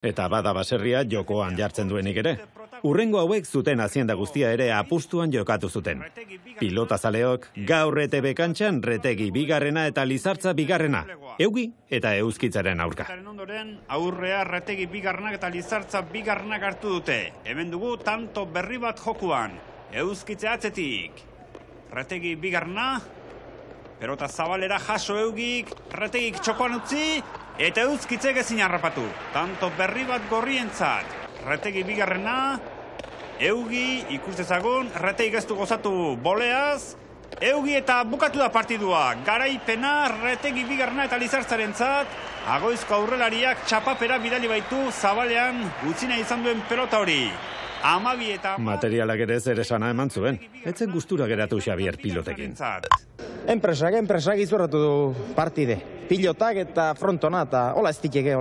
Eta bada baserria jokoan jartzen duenik ere. Urrengo hauek zuten azienda guztia ere apustuan jokatu zuten. Pilotazaleok gaur ETB kantxan Retegi bigarrena eta Lizartza bigarrena. Eugi eta Euskitzaren aurka. Aurrea Retegi bigarrenak eta Lizartza bigarrenak hartu dute. Hemen dugu tanto berri bat jokuan. Euskitze atzetik. Retegi bigarrena. Pelota zabalera jaso Eugik. Retegik txokoan utzi. Eta Euskitzek ezin harrapatu. Tanto berri bat gorrientzat. Retegi bigarrena. Eugi ikustezagun. Retegik ez du gozatu boleaz. Eugi eta bukatu da partidua. Garaipena Retegi bigarrena eta Lizartzarentzat. Agoizko aurrelariak txapapera bidali baitu zabalean utzina izan duen pelota hori. Materialak ere zer esana eman zuen. Etzen gustura geratu Xabier pilotekin. Enpresak izurratu du partide. Pilotak eta frontona eta hola ez diteke.